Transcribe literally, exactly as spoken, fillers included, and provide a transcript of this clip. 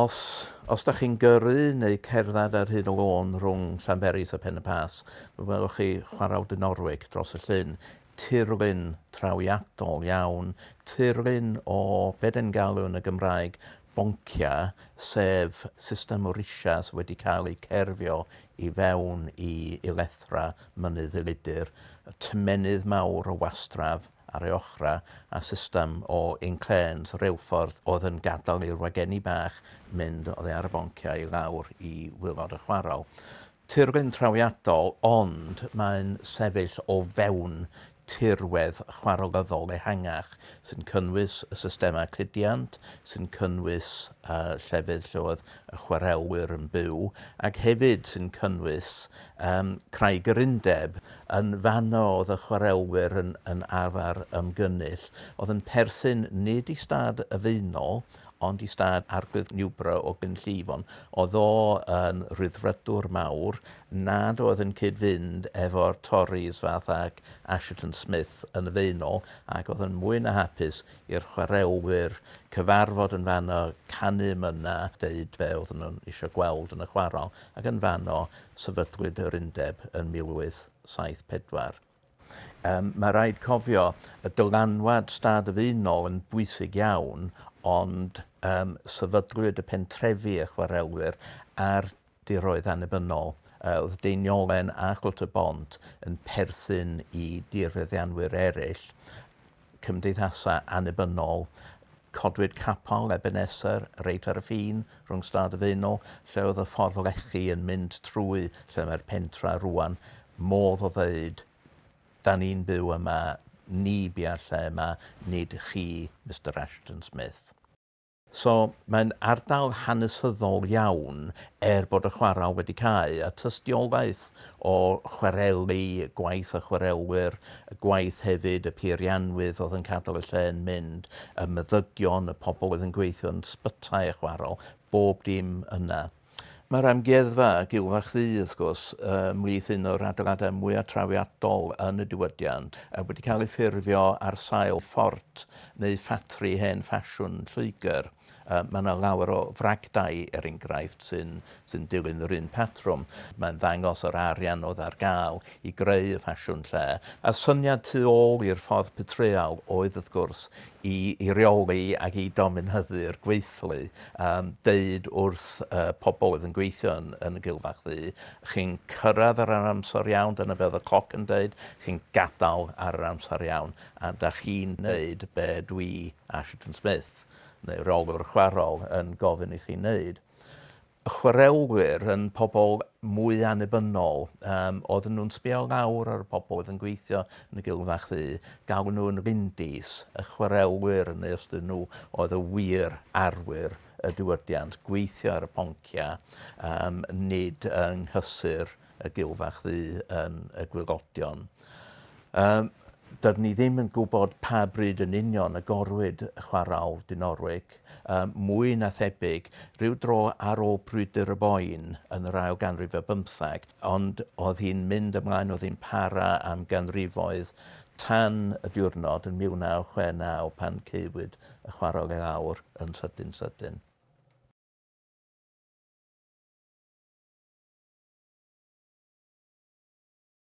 Os, os da chi'n gyrru neu cerdded ar hyd y lôn rhwng Llanberis a Pen y Pass, mi welwch chi chwarel Dinorwig dros y llyn. Tirlun trawiadol iawn, tirlun o be den galw yn y Gymraeg boncia, sef system o risia sydd wedi cael ei cerfio i fewn i, i lethra mynydd Elidir, y tymenydd mawr o wastraf ar ei ochra a system o inclêns reilffordd oedd yn gadael i'r wagenni bach mynd oddi ar y bonciau i lawr i waelod y chwarel. Tirlun trawiadol, ond mae'n sefyll o fewn tirwedd chwarelyddol ehangach sy'n cynnwys y systemau cludiant, sy'n cynnwys uh, llefydd lle oedd y chwarelwyr yn byw, ac hefyd sy'n cynnwys um, Craig yr Undeb. Yn fanno oedd y chwarelwyr yn, yn arfer ymgynnull, oedd yn perthyn nid i stad y Faenol, ond i stad Arglwydd Newborough o Glynllifon. Oedd o yn rhyddfrydwr mawr nad oedd yn cyd-fynd efo'r Tories fath ag Assheton Smith yn y Faenol, ac oedd yn mwy na hapus i'r chwarelwyr cyfarfod yn fanno, canu myna, deud be oedden nhw'n eisiau gweld yn y chwarel, ac yn fanno sefydlwyd yr undeb yn mil wyth saith pedwar. Um, mae rhaid cofio y dylanwad stad y Faenol yn bwysig iawn, ond um, sefydlwyd y pentrefi y chwarelwyr ar diroedd annibynnol. Uh, oedd Deiniolen a Chwt y Bont yn perthyn i dirfeddianwyr eraill, cymdeithasau annibynnol. Codwyd capel Ebenezer reit ar y ffin rhwng stad y Faenol, lle oedd y ffordd lechi yn mynd trwy lle mae'r pentra rwan, modd o ddeud, da ni'n byw yma, ni bia'r lle yma, nid chi, Mister Assheton Smith. So mae'n ardal hanesyddol iawn er bod y chwarel wedi cau, a tystiolaeth o chwareli, gwaith y chwarelwyr, y gwaith hefyd y peirianwydd oedd yn cadw y lle yn mynd, y meddygion, y pobl oedd yn gweithio yn sbytai y chwarel, bob dim yna. Mae'r amgueddfa Gilfach Ddu, wrth gwrs, ymhlith un o'r adeiladau mwyaf trawiadol yn y diwydiant, wedi cael ei ffurfio ar sail ffort neu ffatri hen ffasiwn Lloegr. Mae yna lawer o fragdai, er enghraifft, sy'n sy dilyn yr un patrwm. Mae'n ddangos yr arian oedd ar gael i greu y ffasiwn lle. A syniad tu ôl i'r ffordd petreal oedd, wrth gwrs, i, i reoli ac i dominyddu'r gweithlu, um, deud wrth uh, pobl oedd yn gweithio yn, yn y Gilfach Ddu, chi'n cyrraedd ar yr amser iawn, dyna be oedd y cloc yn deud, chi'n gadael ar yr amser iawn, a da chi'n neud be dwi, Assheton Smith, neu reolwr chwarel, yn gofyn i chi wneud. Y chwarelwyr yn pobl mwy annibynnol, um, oedden nhw'n sbio lawr ar y pobl oedd yn gweithio yn y Gilfach Ddu, galw nhw'n rindis. Y chwarelwyr yn ystod nhw oedd y wir arwyr y diwydiant, gweithio ar y poncia, um, nid yng nghysur y Gilfach Ddu yn y gwaelodion. Um, Dydyn ni ddim yn gwybod pa bryd yn union agorwyd chwarel Dinorwig, um, mwy na thebyg, rhyw dro ar ôl brwydr y Boen yn yr ail ganrif ar bymtheg, ond oedd hi'n mynd ymlaen, oedd hi'n para am ganrifoedd tan y diwrnod yn mil naw chwe naw pan caewyd y chwarel i lawr yn sydyn sydyn.